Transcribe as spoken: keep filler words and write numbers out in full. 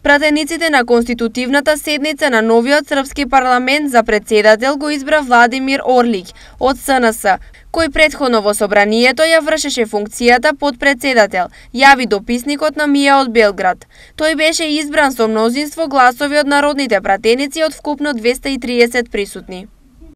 Пратениците на конститутивната седница на новиот српски парламент за председател го избра Владимир Орлик од С Н С, кој претходно во собранието ја вршеше функцијата подпредседател, јави дописникот на МИА од Белград. Тој беше избран со мнозинство гласови од народните пратеници од вкупно двесте и триесет присутни.